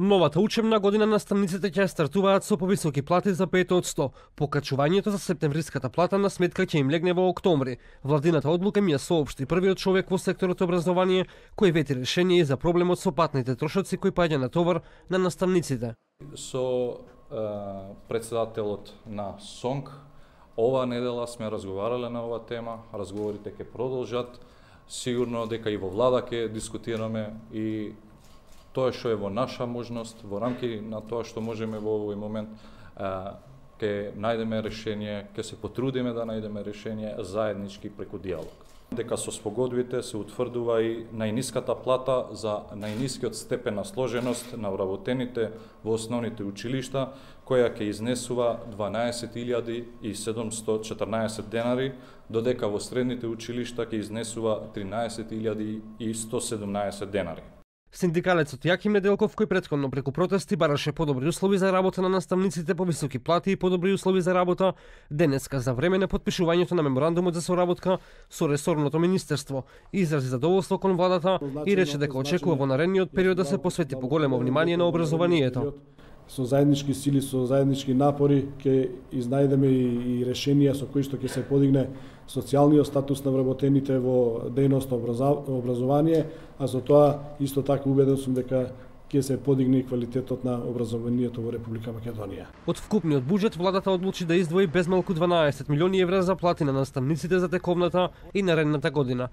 Новата учебна година наставниците ќе стартуваат со повисоки плати за 5%. Покачувањето за септемвриската плата на сметка ќе им легне во октомври. Владината одлука ми ја соопшти првиот човек во секторот образование кој вети решение за проблемот со патните трошоци кој паѓа на товар на наставниците. Со председателот на СОНК ова недела сме разговарале на ова тема, разговорите ќе продолжат. Сигурно дека и во влада ќе дискутираме и тоа што е во наша можност, во рамки на тоа што можеме во овој момент, ќе најдеме решение, ќе се потрудиме да најдеме решение заеднички преку диалог. Дека со спогодбите се утврдува и најниската плата за најнискиот степен на сложеност на вработените во основните училишта, која ќе изнесува 12.714 денари, додека во средните училишта ќе изнесува 13.117 денари. Синдикалецот Јаким Неделков, кој претходно преку протести бараше подобри услови за работа на наставниците, повисоки плати и подобри услови за работа, денеска за време на подпишувањето на меморандумот за соработка со ресорното министерство, изрази задоволство кон владата и рече дека очекува во наредниот период да се посвети поголемо внимание на образованието. Со заеднички сили, со заеднички напори ќе изнајдеме и решенија со кои што ќе се подигне социјалниот статус на вработените во дејност образование, а со тоа исто така убеден сум дека ќе се подигне и квалитетот на образованието во Република Македонија. Од вкупниот буџет владата одлучи да издвои безмалку 12 милиони евра за плати на наставниците за тековната и наредната година.